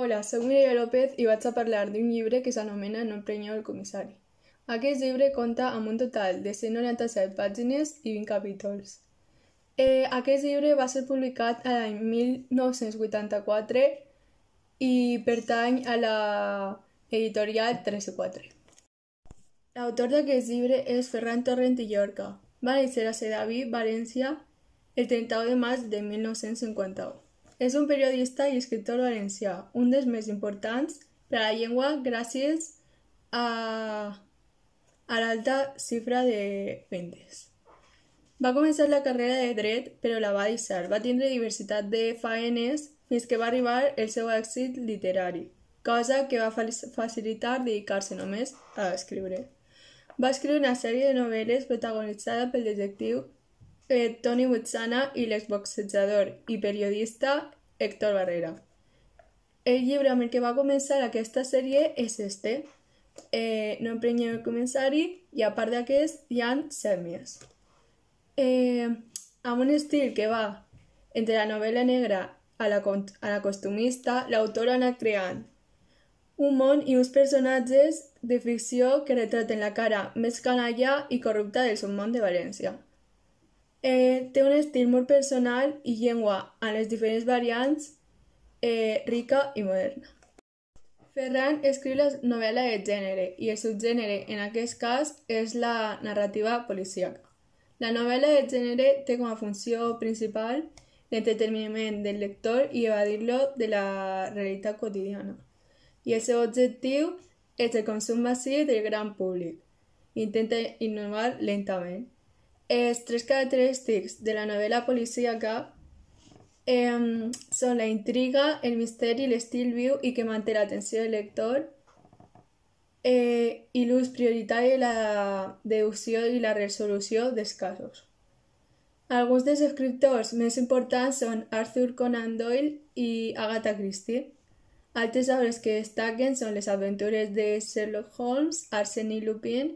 Hola, soc Mireia López i vaig a parlar d'un llibre que s'anomena No emprenyeu el comissari. Aquest llibre compta amb un total de 197 pàgines i 20 capítols. Aquest llibre va ser publicat l'any 1984 i pertany a la editorial 3-4. L'autor d'aquest llibre és Ferran Torrent i Llorca. Va néixer a Sedaví, València, el 31 de maig de 1951. És un periodista i escriptor valencià, un dels més importants per a la llengua gràcies a l'alta xifra de vendes. Va començar la carrera de dret, però la va deixar. Va tindre diversitat de faenes fins que va arribar el seu èxit literari, cosa que va facilitar dedicar-se només a escriure. Va escriure una sèrie de novel·les protagonitzada pel detectiu Toni Buchanan i l'exboxejador i periodista Héctor Barrera. El llibre amb el que va començar aquesta sèrie és No emprenyeu el comissari, i a part d'aquest hi ha 7 més. Amb un estil que va entre la novel·la negra a la costumista, l'autor ha anat creant un món i uns personatges de ficció que retraten la cara més canalla i corrupta del submón de València. Té un estil molt personal i llengua en les diferents variants rica i moderna. Ferran escriu la novel·la de gènere i el subgènere en aquest cas és la narrativa policíaca. La novel·la de gènere té com a funció principal l'entreteniment del lector i evadir-lo de la realitat quotidiana. I el seu objectiu és el consum massiu del gran públic. Intenta innovar lentament. Els 3 característics de la novel·la policíaca són la intriga, el misteri, l'estil viu i que manté l'atenció del lector i l'ús prioritari de la deducció i la resolució dels casos. Alguns dels escriptors més importants són Arthur Conan Doyle i Agatha Christie. Altres obres que destaquen són les aventures de Sherlock Holmes, Arsène Lupin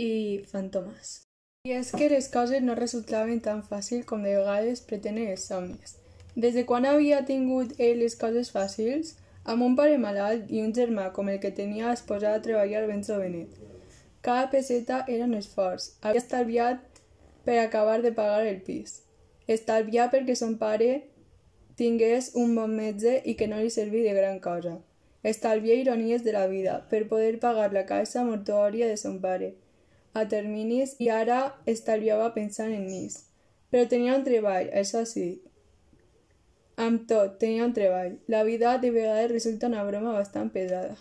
i Fantomas. I és que les coses no resultaven tan fàcils com de vegades pretenen els somnis. Des de quan havia tingut ell les coses fàcils? Amb un pare malalt i un germà com el que tenia es posava a treballar ben jovenet. Cada peseta era un esforç. Havia estalviat per acabar de pagar el pis. Estalviar perquè son pare tingués un bon metge i que no li serví de gran cosa. Estalviar ironies de la vida per poder pagar la caixa mortuòria de son pare a terminis i ara estalviava pensant en ells. Però tenia un treball, això sí. Amb tot, tenia un treball. La vida de vegades resulta una broma bastant pesada.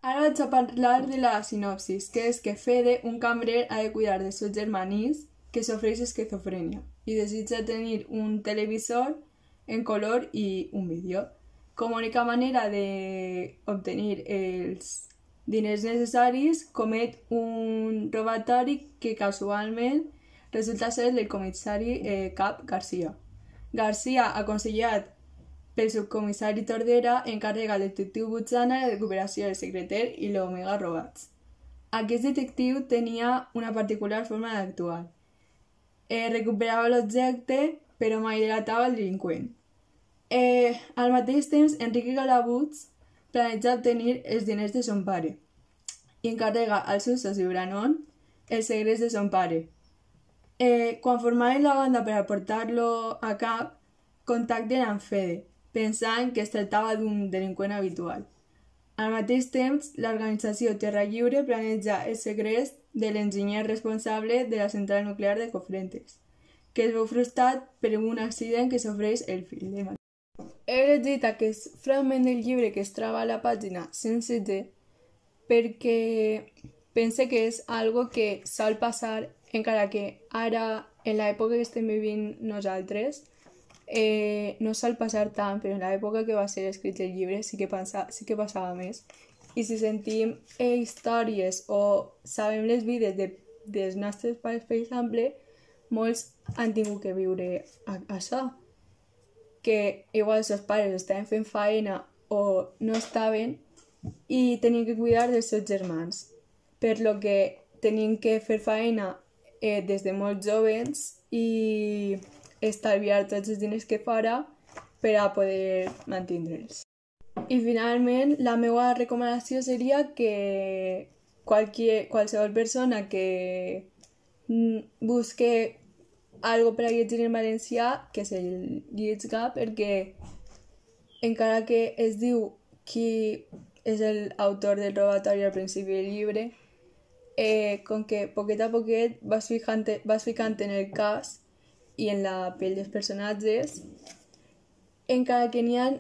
Ara vaig a parlar de la sinopsis, que és que Fede, un cambrer, ha de cuidar del seu germanís que sofreix esquizofrènia i desitja tenir un televisor en color i un vídeo. Com a única manera d'obtenir els diners necessaris, comet un robatori que casualment resulta ser del comissari cap Garcia. Garcia, aconsellat pel subcomissari Tordera, encarrega al detectiu Buchanan la recuperació del secreter i l'Omega robats. Aquest detectiu tenia una particular forma d'actuar. Recuperava l'objecte, però mai delatava el delinqüent. Al mateix temps, Enrique Calabuig planeja obtenir els diners de son pare i encarrega al seu soci Branon el segrest de son pare. Quan formaven la banda per a portar-lo a cap, contacten amb Fede, pensant que es tractava d'un delinqüent habitual. Al mateix temps, l'organització Terra Lliure planeja el segrest de l'enginyer responsable de la central nuclear de Cofrentes, que es veu frustrat per un accident que sofreix el fill de Maria. He llegit aquest fragment del llibre que es troba a la pàgina 107 perquè pense que és algo que sol passar, encara que ara, en l'època que estem vivint nosaltres, no sol passar tant, però en l'època que va ser escrit el llibre sí que passava més. I si sentim històries o sabem les vides dels nostres pares, per exemple, molts han tingut que viure això, que igual els seus pares estaven fent feina o no estaven i tenien que cuidar dels seus germans, per lo que tenien que fer feina des de molt jovens i estalviar tots els diners que fora per a poder mantindre'ls. I finalment, la meva recomanació seria que qualsevol persona que busque algo per a llegir en valencià que se'l llegisca, perquè encara que es diu qui és l'autor del robatori al principi del llibre, com que poquet a poquet vas ficant en el cas i en la pell dels personatges, encara que n'hi ha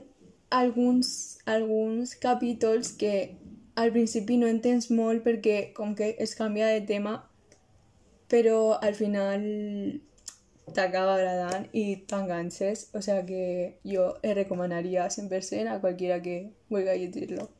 alguns capítols que al principi no entens molt perquè com que es canvia de tema, però al final t'acaba agradant i t'enganxes, o sea que jo el recomanaria 100% a qualquiera que vulgui llegir-lo.